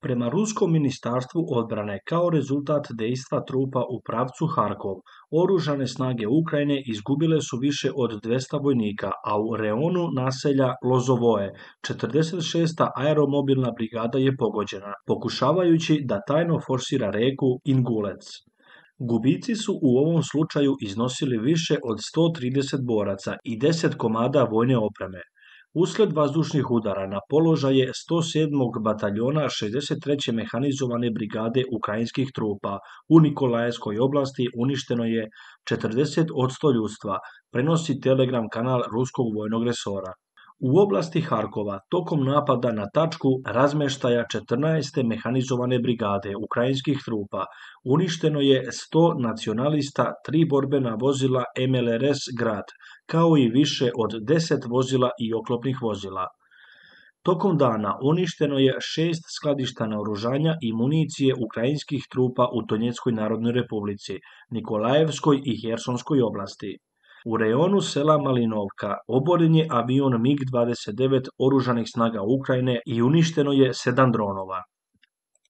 Prema Ruskom ministarstvu odbrane, kao rezultat dejstva trupa u pravcu Harkov, oružane snage Ukrajine izgubile su više od 200 vojnika, a u reonu naselja Lozovoje 46. aeromobilna brigada je pogođena, pokušavajući da tajno forsira reku Ingulec. Gubici su u ovom slučaju iznosili više od 130 boraca i 10 komada vojne opreme. Usled vazdušnih udara na položaje 107. bataljona 63. mehanizovane brigade ukrajinskih trupa u Nikolajevskoj oblasti uništeno je 40% ljudstva, prenosi Telegram kanal ruskog vojnog resora. U oblasti Harkova, tokom napada na tačku razmeštaja 14. mehanizovane brigade ukrajinskih trupa, uništeno je 100 nacionalista, 3 borbena vozila MLRS Grad, kao i više od 10 vozila i oklopnih vozila. Tokom dana uništeno je 6 skladišta naoružanja i municije ukrajinskih trupa u Donjeckoj narodnoj republici, Nikolajevskoj i Hersonskoj oblasti. U rejonu sela Malinovka oboren je avion MiG-29 oružanih snaga Ukrajine i uništeno je 7 dronova.